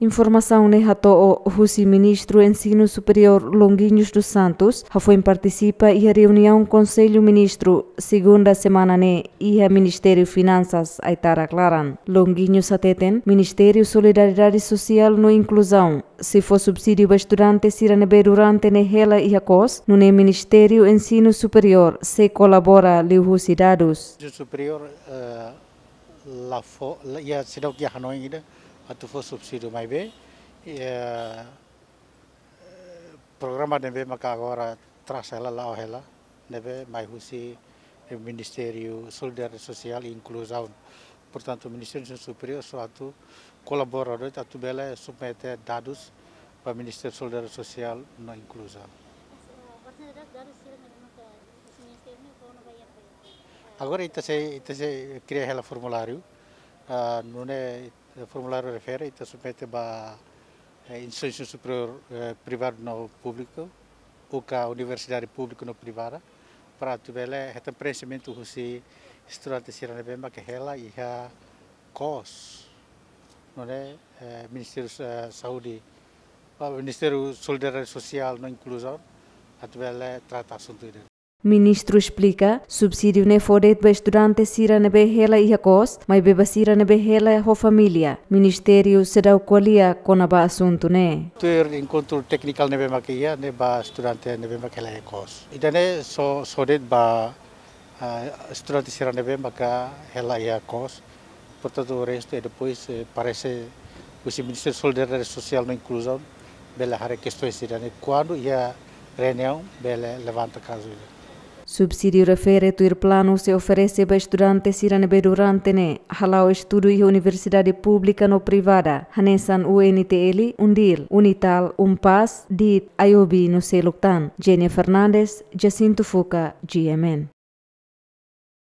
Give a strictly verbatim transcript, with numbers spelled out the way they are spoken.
Informasaun ne'e hato'o husi Ministru Ensinu Superiór Longuinhos dos Santos, hafoin partisipa iha reuniaun Konsellu Ministru, segunda semana ne'e, iha Ministériu Finansas, Aitarak laran. Longuinhos hateten, Ministériu Solidariedade Sosiál no Inkluzaun, sei fó subsídiu ba estudante sira ne'ebé durante ne'e hela iha kos, nune'e Ministériu Ensinu Superiór sei kolabora liuhusi dadus. Ensinu Superiór, eh, la fó, la, iha seidauk iha hanoin ida atu fó subsídiu, maibé, eh, programa ne'ebé maka agora trasa hela, la'o hela, ne'ebé mai husi, eh, Ministériu Solidariedade Sosiál i Inkluzaun. Portantu, Ministériu Ensinu Superiór só atu kolabora de'it atu bele submete dadus ba Ministériu Solidariedade Sosiál no Inkluzaun. Agora ita sei, ita sei kria hela formuláriu, ah, nune'e formuláriu refere ita submete ba, eh, instituisaun superiór, eh, privadu no públiku, ou ka universidade públika no privada, para atu bele hetan preenximentu husi estudante sira ne'ebé maka hela iha kos. Nune'e, eh, Ministériu, eh, Saúde, ah, Ministériu Solidariedade Sosiál no Inkluzaun, atu bele trata asuntu ida. Ministru esplika, subsídiu ne'e fó de'it ba estudante sira ne'ebé hela iha kos, maibé ba sira ne'ebé hela ho família, Ministériu seidauk ko'alia kona-ba asuntu ne'e. Tuir enkontru tékniku ne'ebé maka iha, ne'e ba estudante ne'ebé maka hela iha kos. Ida-ne'e só, só de'it ba, ah, estudante sira ne'ebé maka hela iha kos. Portantu, o restu é depois, eh, parese husi Ministériu Solidariedade Sosiál no Inkluzaun bele haree kestaun sira-ne'e kuandu iha reuniaun bele levanta kazu ida. Subsídiu refere tuir planu sei oferese ba estudante sira ne'ebé durante ne'e hala'o estudu iha universidade públika no privada, hanesan U N T L, UNDIL, UNITAL, UNPAZ, DIT, IOB no seluk tan. Jenny Fernandes, Jacinto Fuca, G M N.